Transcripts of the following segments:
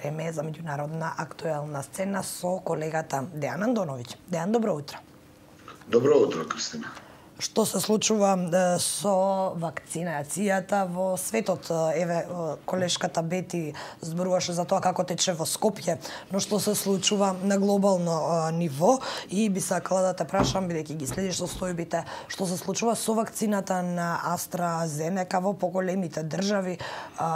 време за меѓународна актуелна сцена со колегата Дејан Андоновиќ. Дејан, добро утро. Добро утро, Кристина. Што се случува со вакцинацијата во светот? Еве, колешката Бети зборуваше за тоа како тече во Скопје, но што се случува на глобално ниво? И би сакала да те прашам, бидејќи ги следиш состојбите, што се случува со вакцината на AstraZeneca во поголемите држави?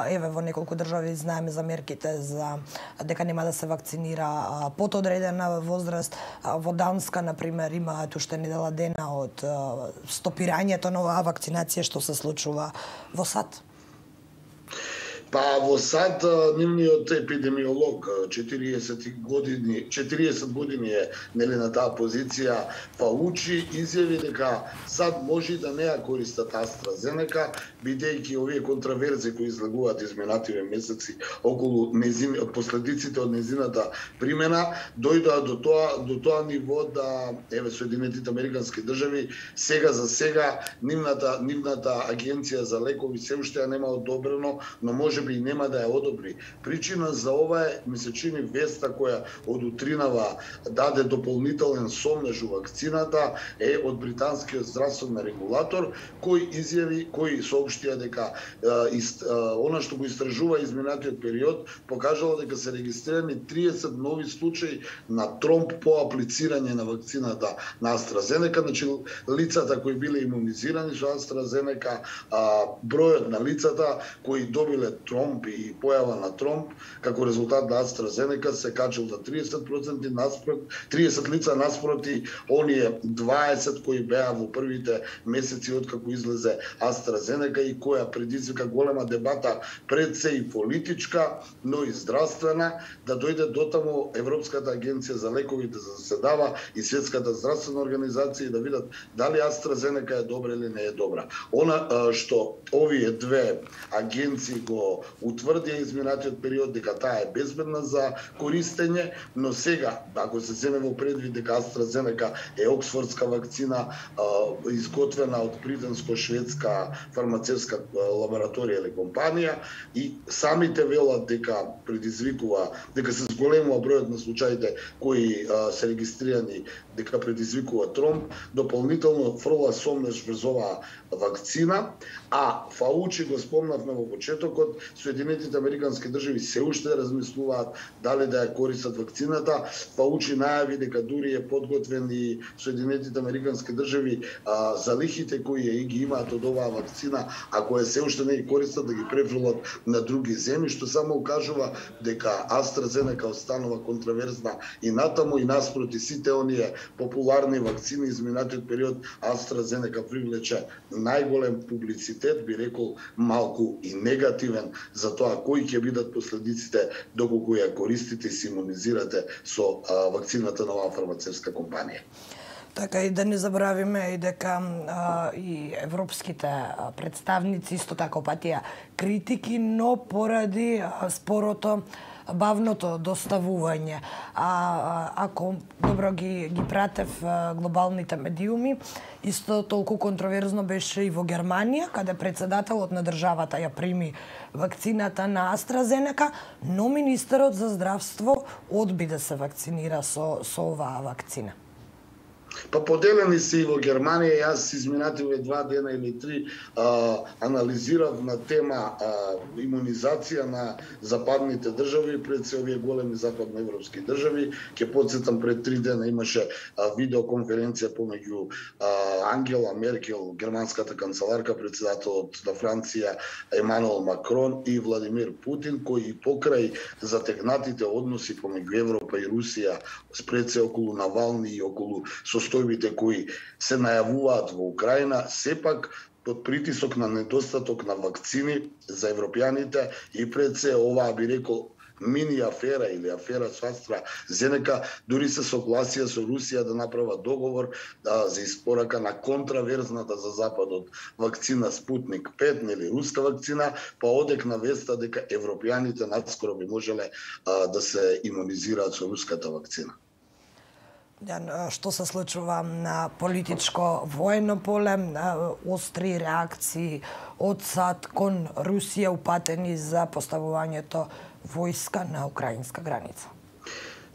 Еве, во неколку држави знаеме за мерките за дека нема да се вакцинира под одредена возраст. Во Данска, например, има уште недела дена од стопирањето на оваа вакцинација. Што се случува во САД? Па во САД нивниот епидемиолог 40 години е на таа позиција, Фаучи изјави дека САД може да не ја користат AstraZeneca, бидејќи овие контраверзи кои излегуваат изминативе месеци околу последиците од незината примена дојдоа до тоа ниво да еве Соединетите Американски држави сега нивната агенција за лекови се уште ја нема одобрено, но може би нема да ја одобри. Причина за ова е, ми се чини, веста која од утринава даде дополнителен сомнеж у вакцината е од британскиот здравствен регулатор, кој соопштија дека она што го истражува изминатиот период покажало дека се регистрирани 30 нови случаи на тромб по аплицирање на вакцината на AstraZeneca. Значи, лицата кои биле имунизирани со AstraZeneca, бројот на лицата кои добиле тромб и појава на тромб како резултат на AstraZeneca се качил за 30% наспроти 30 лица наспроти оние 20 кои беа во првите месеци откако излезе AstraZeneca и која предизвика голема дебата, пред се и политичка, но и здравствена, да дојде дотаму Европската агенција за лековите да заседава и Светската здравствена организација и да видат дали AstraZeneca е добра или не е добра. Она што овие две агенции го утврдија изминатиот период дека таа е безбедна за користење, но сега, ако се земе во предвид дека AstraZeneca е оксфордска вакцина, изготвена од британско-шведска фармацевтска лабораторија или компанија, и самите велат дека предизвикува, дека се зголемува бројот на случаите кои се регистрирани дека предизвикува тромб, дополнително фрла сомнеж врз оваа вакцина, а Фаучи го спомнавме во почетокот, Соединетите Американски држави се уште размислуваат дали да ја користат вакцината. Фаучи најави дека дури е подготвен и Соединетите Американски држави залихите кои ги имаат од оваа вакцина, ако се уште не ги користат, да ги префрлат на други земји, што само укажува дека AstraZeneca останува контраверзна и натаму и наспроти сите оние популарни вакцини изминатиот период. AstraZeneca привлече најголем публицитет, би рекол малку и негативен, за тоа кои ќе бидат последиците доколку ја користите и се имунизирате со вакцината на оваа фармацевтска компанија. Така и да не забравиме и дека и европските представници исто така опатија критики, но поради спорото, бавното доставување. Ако добро ги пратев глобалните медиуми, исто толку контроверзно беше и во Германија, каде председателот на државата ја прими вакцината на AstraZeneca, но министерот за здравство одби да се вакцинира со оваа вакцина. Па поделени се и во Германија. Јас изминативе 2 дена или 3 анализирав на тема имунизација на западните држави, пред се овие големи западноевропски држави. Ќе потсетам, пред 3 дена имаше видеоконференција помеѓу Ангела Меркел, германската канцеларка, председателот на Франција Емануел Макрон и Владимир Путин, кои покрај затегнатите односи помеѓу Европа и Русија, пред се околу Навални и околу состојбите кои се најавуваат во Украина, сепак под притисок на недостаток на вакцини за европјаните и пред се оваа, би рекол, мини афера или афера со AstraZeneca, дури се согласија со Русија да направат договор за испорака на контраверзната за Западот вакцина Спутник 5, нели руска вакцина, па одекна веста дека европјаните наскоро би можеле да се имунизираат со руската вакцина. Што се случува на политичко воено поле, остри реакции од САД кон Русија упатени за поставувањето војска на украинска граница?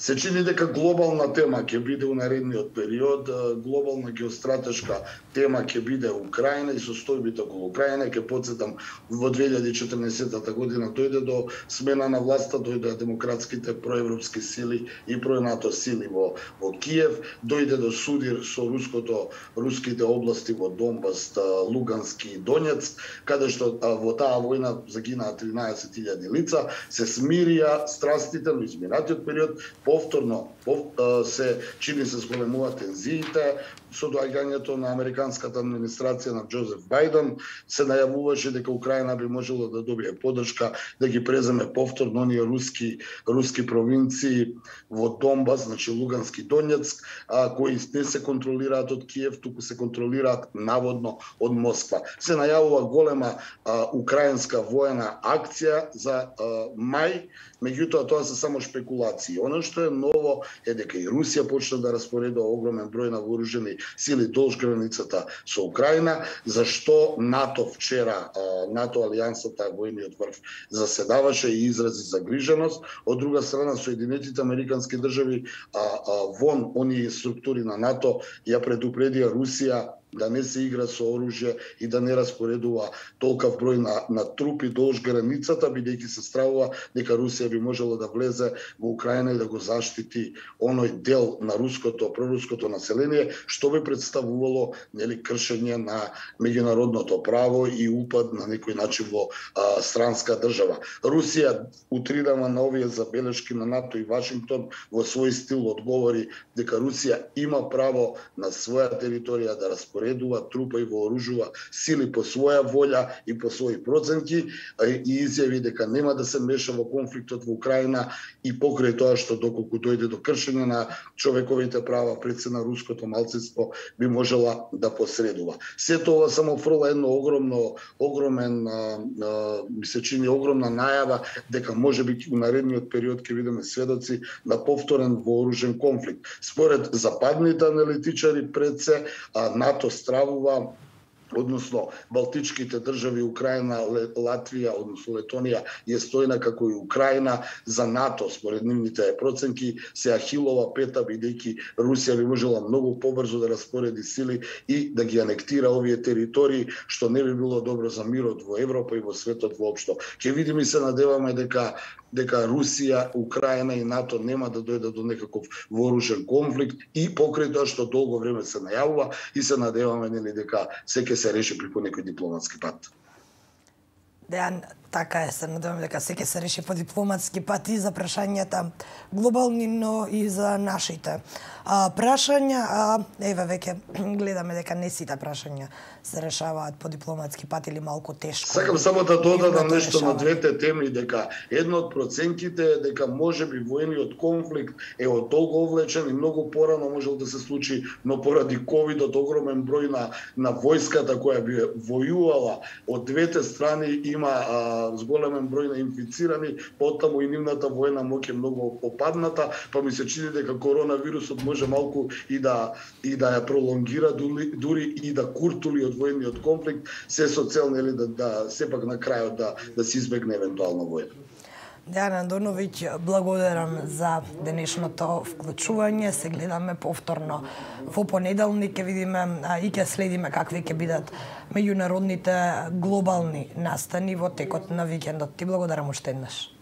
Се чини дека глобална тема ќе биде у наредниот период, глобална геостратешка тема ќе биде Украина и состојбите околу Украина. Ќе потсетам, во 2014 година дојде до смена на власта, дојде демократските проевропски сили и проНато сили во Киев, дојде до судир со руските области во Донбас, Лугански и Донецк, каде што во таа војна загинаа 13.000 лица, се смирија страстите, но изминатиот период повторно се чини се зголемуваат тензиите со доаѓањето на американската администрација на Џозеф Бајден. Се најавуваше дека Украина би можела да добие поддршка да ги преземе повторно оние руски провинции во Донбас, значи Лугански и Донецк, кои не се контролираат од Киев, туку се контролираат наводно од Москва. Се најавува голема украинска воена акција за мај, меѓутоа тоа се само шпекулации. Оно што е ново е дека и Русија почна да распоредува огромен број на вооружени сили долж границата со Украина, зашто НАТО вчера, НАТО алијансата, војниот врв заседаваше и изрази загриженост. Од друга страна, Соединетите Американски држави вон оние структури на НАТО ја предупредија Русија да не се игра со оружје и да не распоредува толков број на трупи долж границата, бидејќи се стравува дека Русија би можела да влезе во Украина и да го заштити оној дел на проруското население, што би представувало кршење на меѓународното право и упад на некој начин во странска држава. Русија утрирана на овие забелешки на НАТО и Вашингтон во свој стил одговори дека Русија има право на своја територија да распоредува трупа и вооружува сили по своја волја и по своји проценти, и изјави дека нема да се меша во конфликтот во Украина и покрај тоа што доколку дојде до кршење на човековите права пред се на руското малцинство би можела да посредува. Сето ова само фрла едно ми се чини огромна најава дека можеби у наредниот период ќе видиме сведоци на повторен вооружен конфликт. Според западните аналитичари пред се НАТО стравува, односно Балтичките држави, Украина, Латвија, односно Летонија, е стојна како и Украина за НАТО, според нивните проценки, се Ахилова пета, бидејќи Русија би можела многу побрзо да распореди сили и да ги анектира овие територии, што не би било добро за мирот во Европа и во светот воопшто. Ќе видиме и се надеваме дека Русија, Украина и НАТО нема да дојдат до некаков вооружен конфликт и покрај тоа што долго време се најавува и се надеваме дека се ќе се реши преку некој дипломатски пат. Дејан, така е, се надевам дека се ќе се реши по дипломатски пат и за прашањата глобални, но и за нашите прашања. Еве, веќе гледаме дека не сите прашања се решаваат по дипломатски пат или малку тешко. Сакам само да додадам нешто на двете теми, дека едно од проценките е дека можеби војниот конфликт е од долго овлечен и многу порано можел да се случи, но поради ковидот огромен број на војската која би војувала од двете страни има зголемен број на инфицирани, потаму и нивната војна моќ е многу опадната, па ми се чини дека коронавирусот може малку и да ја пролонгира, дури и да куртули од војниот конфликт, се со цел да сепак на крајот да се избегне евентуална војна. Дејан Андоновиќ, благодарам за денешното вклучување. Се гледаме повторно во понеделник, ќе видиме и ќе следиме какви ќе бидат меѓународните глобални настани во текот на викендот. Ти благодарам уште еднаш.